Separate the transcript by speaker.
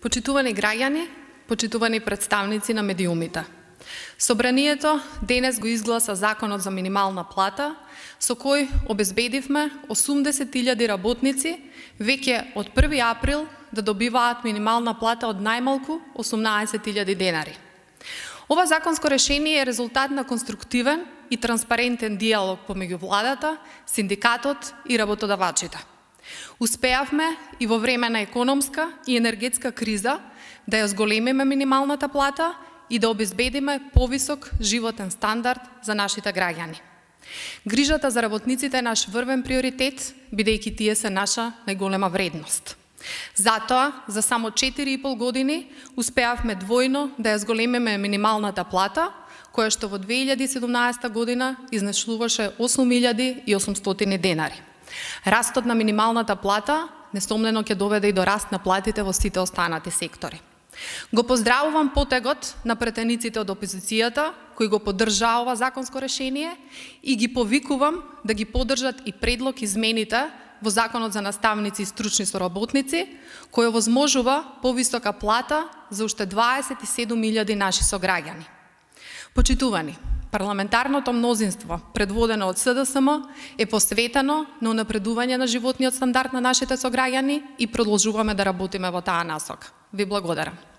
Speaker 1: Почитувани граѓани, почитувани представници на медиумите. Собранието денес го изгласа Законот за минимална плата, со кој обезбедивме 80.000 работници веќе од 1 април да добиваат минимална плата од најмалку 18.000 денари. Ова законско решение е резултат на конструктивен и транспарентен диалог помеѓу владата, синдикатот и работодавачите. Успеавме и во време на економска и енергетска криза да ја зголемиме минималната плата и да обезбедиме повисок животен стандард за нашите граѓани. Грижата за работниците е наш врвен приоритет, бидејќи тие се наша најголема вредност. Затоа, за само 4,5 години, успеавме двојно да ја зголемиме минималната плата, која што во 2017 година изнеслуваше 8.800 денари. Растот на минималната плата несомнено ќе доведе и до раст на платите во сите останати сектори. Го поздравувам потегот на претениците од опозицијата, кои го поддржаа ова законско решение и ги повикувам да ги поддржат и предлог измените во Законот за наставници и стручни соработници, кој овозможува повисока плата за уште 27.000 наши сограѓани. Почитувани, парламентарното мнозинство, предводено од СДСМ, е посветено на унапредување на животниот стандард на нашите сограѓани и продолжуваме да работиме во таа насока. Ви благодарам.